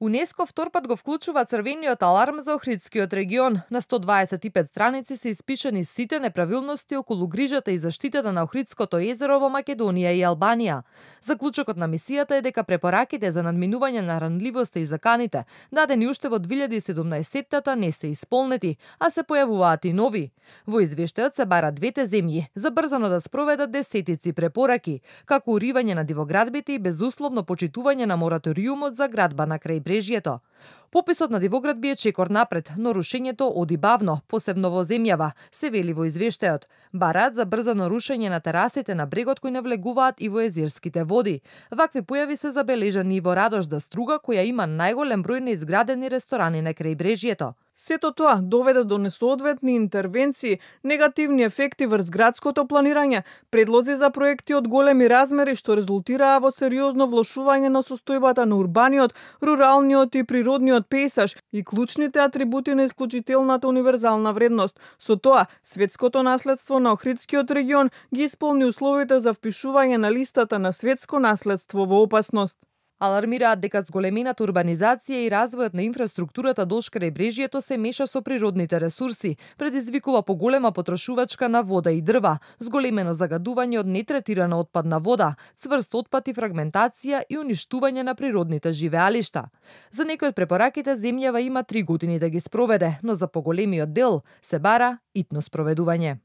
УНЕСКО втор пат го вклучува црвениот аларм за Охридскиот регион. На 125 страници се испишани сите неправилности околу грижата и заштитата на Охридското езеро во Македонија и Албанија. Заклучокот на мисијата е дека препораките за надминување на ранливоста и заканите, дадени уште во 2017-та, не се исполнети, а се појавуваат и нови. Во извештајот се бара двете земји забрзано да спроведат десетици препораки, како уривање на дивоградбите и безусловно почитување на мораториумот за градба на крајбрежјето. Пописот на дивоградби е чекор напред, но рушењето оди бавно, посебно во земјава, се вели во извештајот. Бараат за брзано рушење на терасите на брегот кои навлегуваат и во езерските води. Вакви појави се забележани и во Радожда Струга, која има најголем број на изградени ресторани на крајбрежјето. Сето тоа доведе до несоодветни интервенции, негативни ефекти врз градското планирање, предлози за проекти од големи размери што резултираа во сериозно влошување на состојбата на урбаниот, руралниот и природниот пејзаж и клучните атрибути на исклучителната универзална вредност. Со тоа, светското наследство на Охридскиот регион ги исполни условите за впишување на листата на светско наследство во опасност. Алармираат дека зголемената урбанизација и развојот на инфраструктурата долж крајбрежјето се меша со природните ресурси, предизвикува поголема потрошувачка на вода и дрва, зголемено загадување од нетретирана отпадна вода, цврст отпад и фрагментација и уништување на природните живеалишта. За некои од препораките земјава има 3 години да ги спроведе, но за поголемиот дел се бара итно спроведување.